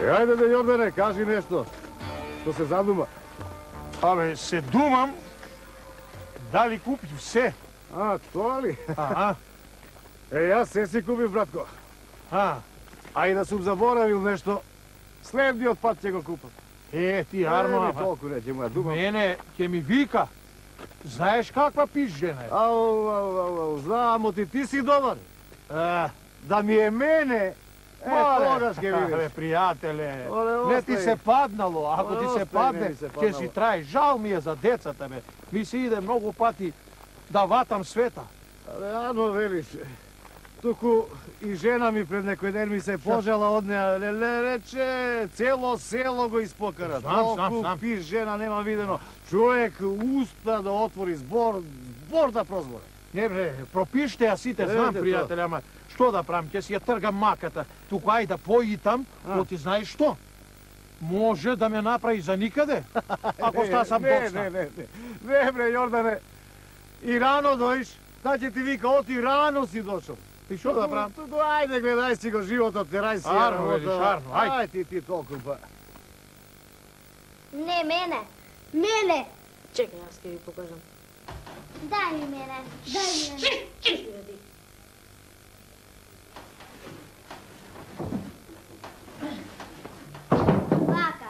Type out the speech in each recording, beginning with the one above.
Ајде да Јордане, кажи нешто. Што се задума? Абе, се думам дали купив се. А, тоа ли? Аха. Јас се си купив, братко. А и да сум заборавил нешто, следниот пат ќе го купам. Ти, Арно, толку не ќе му ја думам. мене ќе ми вика. Знаеш каква пиш жена е? Ау, знам, ти си добар. Да ми е мене, тогаш ќе видиш. Бе, пријателе, Оле, не ти се паднало, ако ти се падне, ќе си трај. Жал ми е за децата, бе. Ми се иде многу пати да ватам света. Але, Ано, велиш, туку и жена ми пред некој ден ми се пожала од неа, рече, цело село го испокара. Знам. Пиш жена нема видено. Човек успа да отвори збор да прозбора. Не бре, пропиште ја сите, знам, пријателе, ама што да правам, ќе си ја тргам маката. Туку ај да поитам, но ти знаеш што? Може да ме направи за никаде, ако стасам доцна. Не, бре, Јордане, и рано доиш, да ќе ти вика, оти рано си дошол. И што да правам? Туку, ајде, гледај си го животот, терај си ја Арно, велиш, Арно, ајде. Ајде ти толку па. Не, мене. Чекай, јас ќе ви покажам. Дај ми мене. Вака.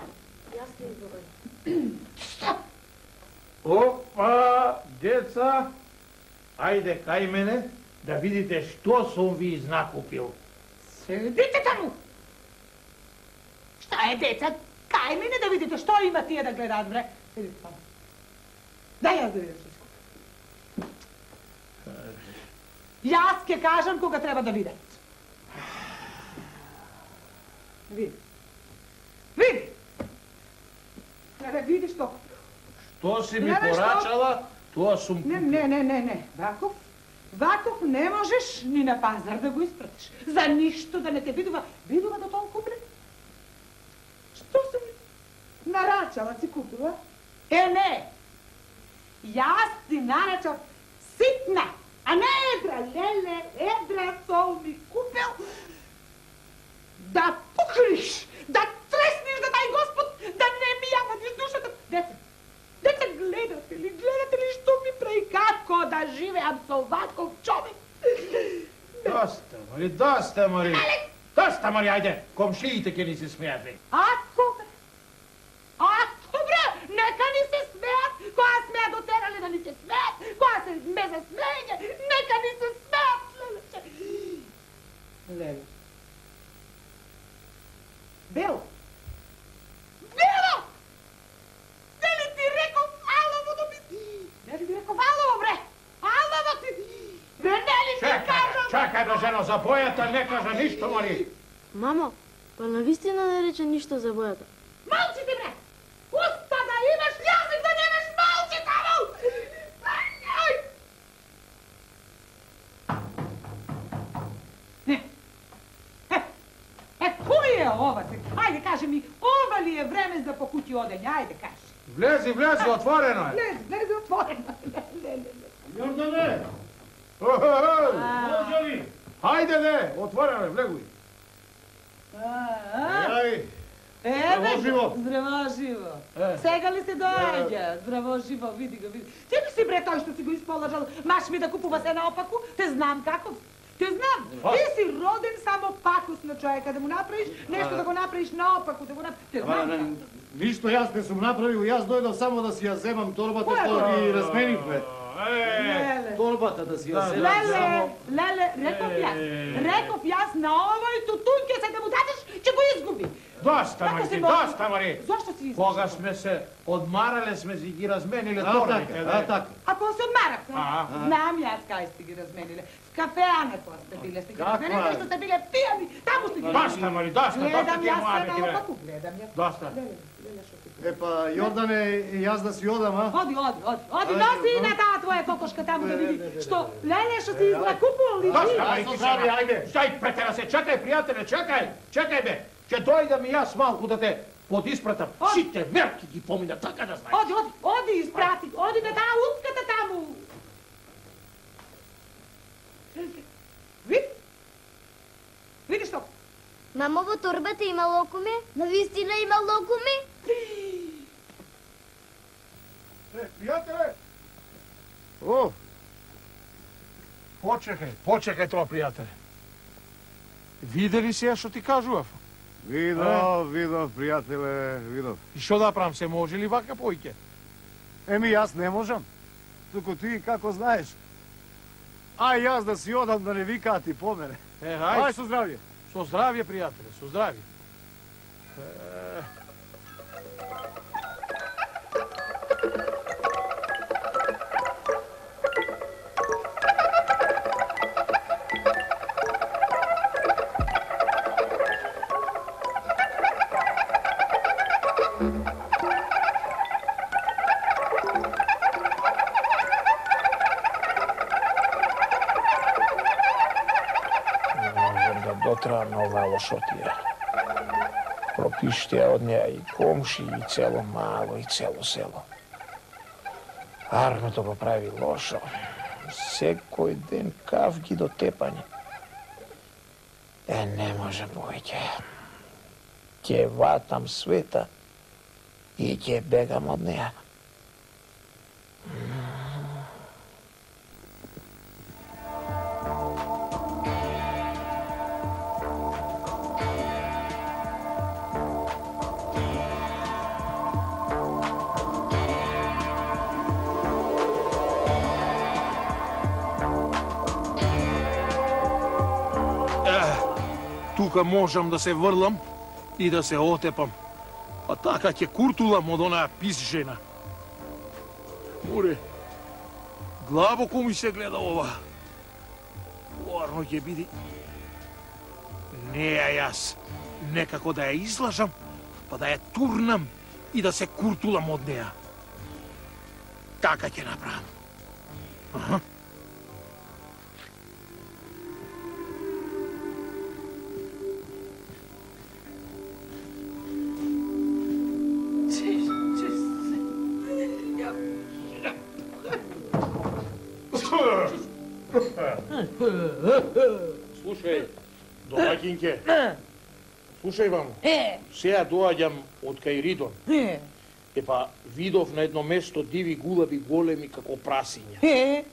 Јас ќе ви покажам. Опа, деца, ајде кај мене да видите што сум ви изнакупил. Седите таму! Шта е, деца? Кај мене да видите што има тие да гледаат, бре? Седите таму. Дај јас да видам што искупам. Јас ќе кажам кога треба да видат. Види. Види! Треба види што. Што си ми порачала, тоа сум купил. Не. Ваков не можеш ни на пазар да го испратиш. За ништо да не те видува. Видува до толку, бре? Што сум нарачала си купила? Не. Јас ти нарачав ситна, а не едра. Леле, едра сол ми купил да пукриш, да тресниш да тај Господ, да не ми ја вадиш душата. Деца, гледате ли што ми прави, како да живеам со ваков човек? Доста, Мари. Доста, Мари, ајде. Комшиите ќе ни се смеат, бе. Ако, бре, нека ни се смеат, која смеа дотерале да ни се смеат, која се ме за смејање, нека ни се смеат, леле. Бело! Дали ти реков алово да ми... Дали ти реков алово, бре? Алово ти... Бре, нели ти кажам... Чакај, бе, жено, за бојата не кажа ништо, Мари. Мамо, па навистина не рече ништо за бојата. Малци ти, бре! Уста да имаш, јазик да немаш, малци таму! Кој е ова? Ајде, кажи ми, ова ли е време за по куќи одење? Ајде, кажи. Влези, отворено е. Влези, отворено. Јордане! Може ли? Хајде, отворено е, влегуј. Здраво живо. Здраво живо. Сега ли се доаѓа? Здраво живо, види го, види. Ти ли си, бре, тој што си го исположал, маш ми да купува се наопаку? Те знам каков. Те знам, ти си роден само пакосно човека, да му направиш нешто да го направиш наопаку, да го направиш. Те знам. Ништо јас не сум направил, јас дојдов само да си ја земам торбата што ги разменивме. Торбата да си ја земам само... Леле, реков јас на овој тутун ќе се да му дадеш, ќе го изгуби. Доста, Мари. Зошто си изгуби? Кога сме се одмарале, сме си ги размениле торбите. Така. А кога се одмарахте? Знам јас кај сте ги размениле. В кафеане кога сте биле, сте ги размениле, зашто сте биле пијани, таму сте ги размениле. Доста, Мари, доста ти е моја бе, наопаку, гледам јас. Доста. Епа, Јордане, јас да си одам, а? Оди, носи и на таа твоја кокошка таму да види што, леле, што си изнакупувал ли ти? Доста, Мари, ти се, ајде. Стај, претера се, чекај, пријателе, чекај, бе. Ќе дојдам и јас малку да те подиспратам. Сите мерки ги помина, така да знаеш. Оди, испрати, оди на таа утката таму. Види што? Мамо, во торбата има локуме? Навистина има локуме? Пријателе! О, Почекај тоа, пријателе. Видели си ја што ти кажував? видов, пријателе, видов. И што да правам, се може ли вака поиќе? Еми, јас не можам. Туку ти, како знаеш. Ај, јас да си одам да не викаат и по мене. Ај, Ај, со здравје. со здравје, пријателе, со здравје. Дотра нова лошотија. Пропиштија од неа и комши, и цело мало, и цело село. Армето го прави лошо. Секој ден кавги до тепање. Не може повеќе. Ќе ватам света и ќе бегам од неа. Тука можам да се врлам и да се отепам. А така ќе куртулам од онаа пис жена. Море, глабоко ми се гледа ова. Уарно ќе биде. Не јас некако да ја излажам, па да ја турнам и да се куртулам од неа. Така ќе направам. Аха. Слушај, домаќинке. Слушај вам. Сега доаѓам од кај Ридон. Епа видов на едно место диви гулаби големи како прасиња.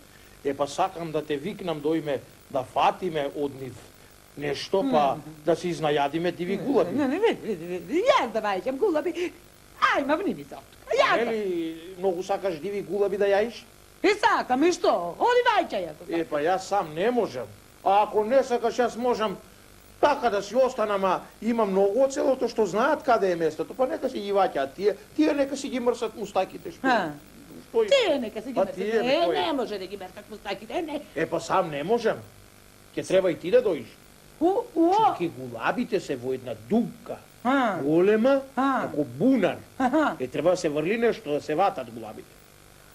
Епа сакам да те викнам дојме да фатиме од нив нешто, па да се изнајадиме диви гулаби. Јас да вајќам гулаби. Ајма, вни ми се оттука. Јас да. Нели многу сакаш диви гулаби да јаиш? И сакам, и што? Оди вајќај ако сакам. Епа јас сам не можам. А ако не сакаш, јас можам така да си останам, а има многу од селото што знаат каде е местото, па нека си ги ваќаат тие. Тие нека си ги мрсат мустаките, што? Што Тие нека си ги мрсат. тие, Не може да ги мрсат мустаките, не. Епа сам не можам. Ќе треба и ти да дојдеш. Чеки гулабите се во една дупка. Голема, како бунар. Треба да се врли нешто да се ватат гулабите.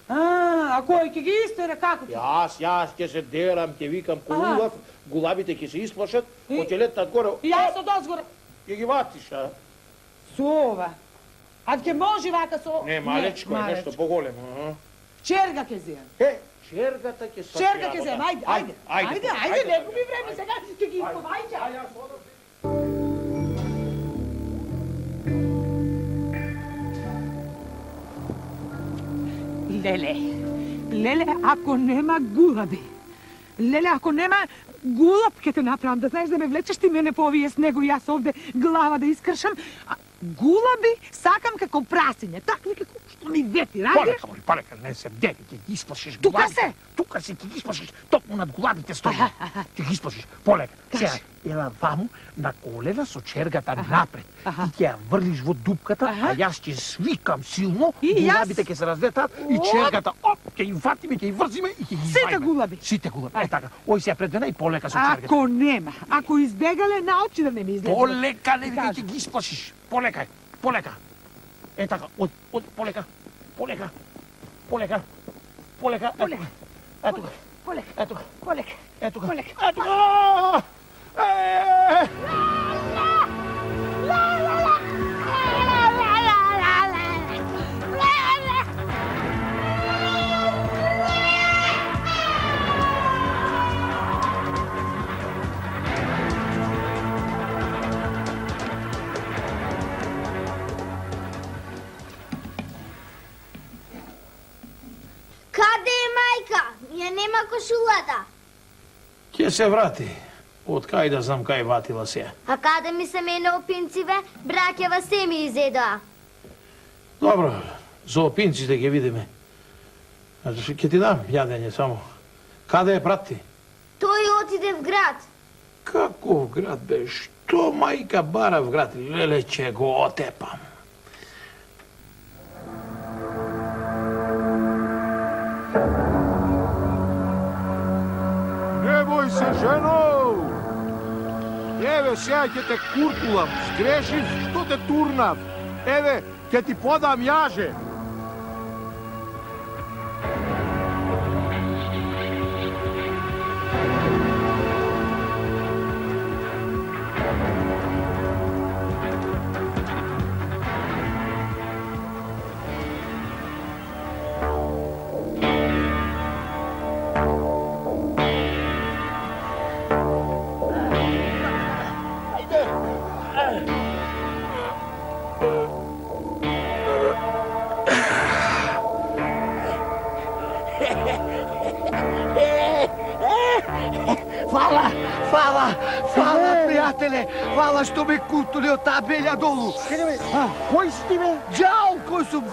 А кој ќе ги истере, како ќе? Јас ќе се дерам, ќе викам колулав, гулабите ќе се исплашат, ќе летат горе. Јас од озгоре. Ќе ги ватиш, а? Со ова. А ќе може вака со... Не, малечко е нешто поголемо. Черга ќе земам. Чергата ќе се... Черга ќе земам, ајде, не губи време сега, ќе ги повајќа. Леле, ако нема гулаби. Леле, ако нема гулаб ќе те направам, да знаеш да ме влечеш ти мене по овие снегови, јас овде глава да искршам. Гулаби сакам како прасиње, такви како што ми вети, ради? Полека, не се бдеги, ќе ги исплашиш Тука гулабите. се? Тука се, ќе ги исплашиш, токму над гулабите стои. Ќе ги исплашиш, полека. Сега, ела ваму на колена со чергата напред. Ти ќе ја врлиш во дупката, а јас ќе свикам силно, гулабите ќе се разлетат и чергата, ќе ги фатиме, ќе ги врзиме и ќе ги извајме. Сите гулаби? Сите гулаби, е така. Ој сега пред мене и полека со чергата. Ако нема, ако избегале на очи да не ми излезе. Полека, не викај, ќе ги исплашиш. Полека, полека. Е така, од полека, полека, полека, полека, ето го, ето го, ето го, ето го. нема кошулата? Ќе се врати. Од кај да знам кај ватила се. А каде ми се мене опинциве? Браќава се ми изедоа. Добро, за опинците ќе видиме. Ќе ти дам јадење само. Каде е брат ти? Тој отиде в град. Каков град бе? Што мајка бара в град? Леле, ќе го отепам. Не бој се, жено! Еве, сега ќе те куртулам. Сгрешив, што те турнав. Еве, ќе ти подам јаже. Фала, пријателе! Фала што ме куртули од таа белја долу! Кој си ти, бе? Џал, кој сум?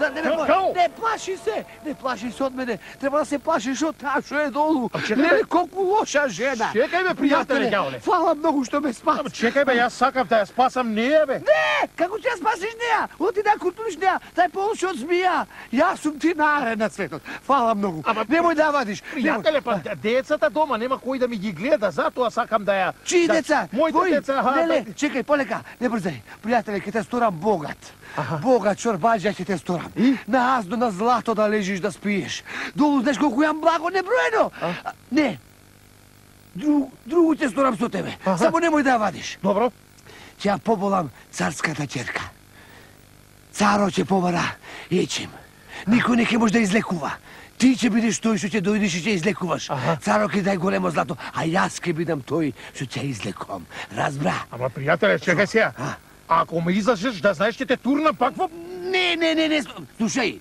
Као? Не плаши се! Не плаши се од мене! Треба да се плашиш од таа што е долу! Леле, колку лоша жена! Чекај, бе, пријателе, ѓаоле! Фала многу што ме спаси! Чекај, бе, јас сакам да ја спасам неја, бе! Не! Како ќе ја спасиш неја? Оти да куртулиш неја, тај полоши од змија! Јас сум ти нареден на светот! Фала многу! Немој да вадиш! Пријателе, па децата дома нема кој да ми ги гледа, затоа сакам да ја... Чии деца? Моите деца, Леле, чекај, полека, не брзај. Пријателе, ќе те сторам богат. Богат чорбаџа ќе те сторам. На азно, на злато да лежиш, да спиеш. Долу, знаеш колку јам благо неброено. Не. Другу ќе сторам со тебе. Само немој да ја вадиш. Добро. Ќе ја поболам царската ќерка. Царо ќе побара ечим. Никој не ќе може да излекува. Ти ќе бидеш тој што ќе дојдеш и ќе излекуваш. Царо ќе дај големо злато, а јас ќе бидам тој што ќе излекувам. Разбра? Ама, пријателе, чекај сега. Ако ме излажеш, да знаеш, ќе те турнам пак во... Не. Слушај.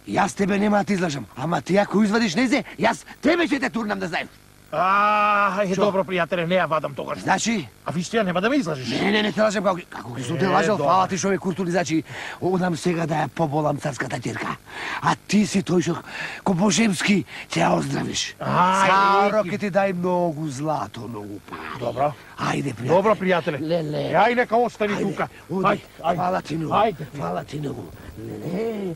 Јас тебе нема да те излажам, ама ти ако извадиш незе, јас тебе ќе те турнам, да знаеш. Добро, пријателе, не ја вадам тогаш. Значи? А вистина нема да ме излажеш. Не те лажам како ќе сум те лажал, фала ти што ме куртули, значи, одам сега да ја поболам царската ќерка. А ти си тој што ко Божемски ќе ја оздравиш. Царо ќе ти дај многу злато, многу пари. Добро. Ајде, пријателе. Добро, пријателе. Леле. Ај, нека остани тука. Оди. Фала ти многу. Ајде. Фала ти многу. Леле.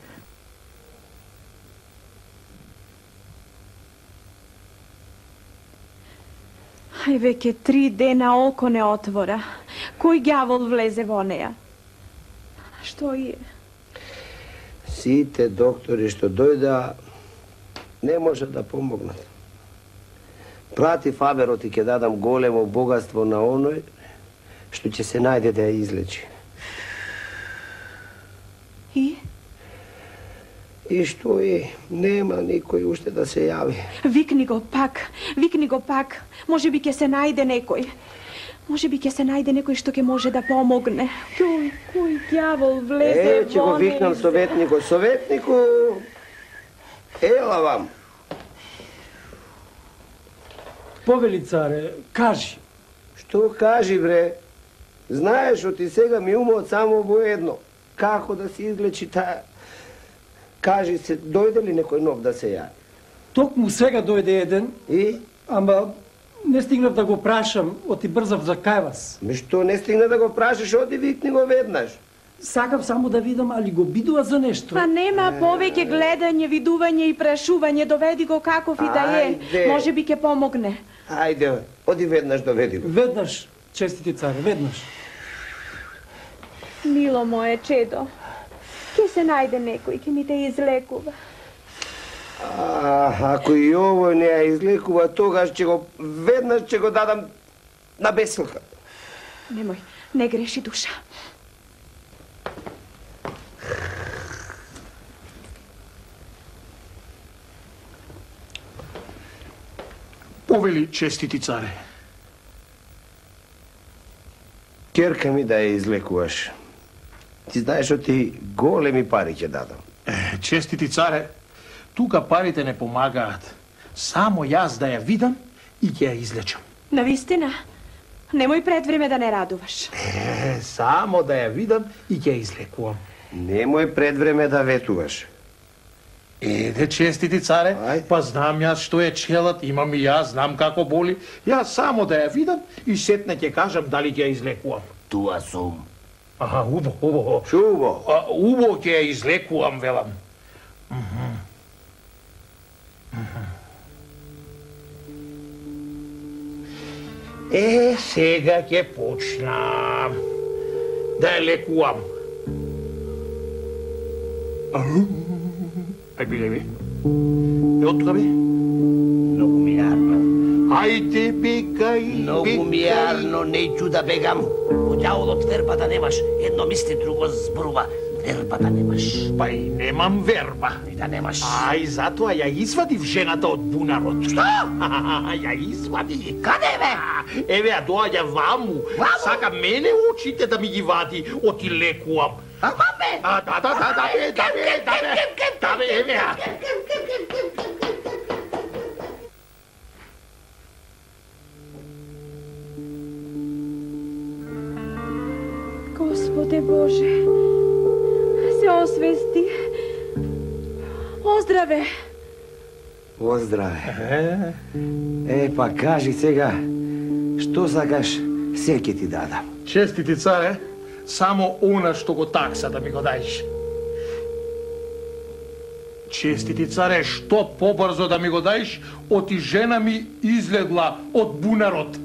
Ај, веќе 3 дена око не отвора. Кој ѓавол влезе во неја? Што е? Сите доктори што дојда не може да помогнат. Прати Фаберот и ќе дадам големо богатство на оној што ќе се најде да ја излечи. И што е? Нема никој уште да се јави. Викни го пак. Може би ќе се најде некој. Може би ќе се најде некој што ќе може да помогне. Кој ѓавол влезе во... Ќе го викнам советникот. Советнику, ела вам. Повели, царе, кажи. Што кажи, бре? Знаеш, оти сега ми умот само во едно. Како да се излечи таа... Кажи се, дојде ли некој нов да се јави? Токму сега дојде еден. И? Ама не стигнав да го прашам, оти брзав за кај вас. Ме што не стигна да го прашаш, оди викни го веднаш. Сакав само да видам, али го бидува за нешто. Па нема повеќе гледање, видување и прашување, доведи го каков и да е. Може би ќе помогне. Ајде, оди веднаш доведи го. Веднаш, честити царе, веднаш. Мило моje чедо, ќе се најде некој, ќе ми те излекува. Ако и овој не ја излекува, тогаш веднаш ќе го дадам на бесилка. Немој, не греши душа. Повели, честити царе. Ќерка ми да ја излекуваш. Ти знаеш што ти големи пари ќе дадам. Честити царе, тука парите не помагаат. Само јас да ја видам и ќе ја излечам. Навистина? Немој пред време да не радуваш. Само да ја видам и ќе ја излекувам. Немој пред време да ветуваш. Еде, честити царе, па знам јас што е челат, имам и јас, знам како боли. Јас само да ја видам и сетне ќе кажам дали ќе ја излекувам. Туа сум. Аха, убо. Шубо. Убо ќе ја излекувам, велам. Сега ќе почнам да ја лекувам. Ај биле ви. Од тука би? Многу ми јарно. Ајде бегај. Многу ми јарно, неќу да бегам. По ѓаволот вербата немаш. Едно мисли, друго зборува. Вербата немаш. Па и немам верба. И да немаш. Ај, затоа ја извадив жената од бунарот. Што? Ја извади. Каде бе? Еве, ја доаѓа ваму. Сака мене очите да ми ги вади, оти лекувам. Маме! Да бе, еве ја. Господе Боже, се освести. Оздраве. Оздраве. Па кажи сега, што сакаш, се ќе ти дадам. Честити царе, само она што го такса да ми го даеш. Честити царе, што побрзо да ми го даеш, оти жена ми излегла од бунарот.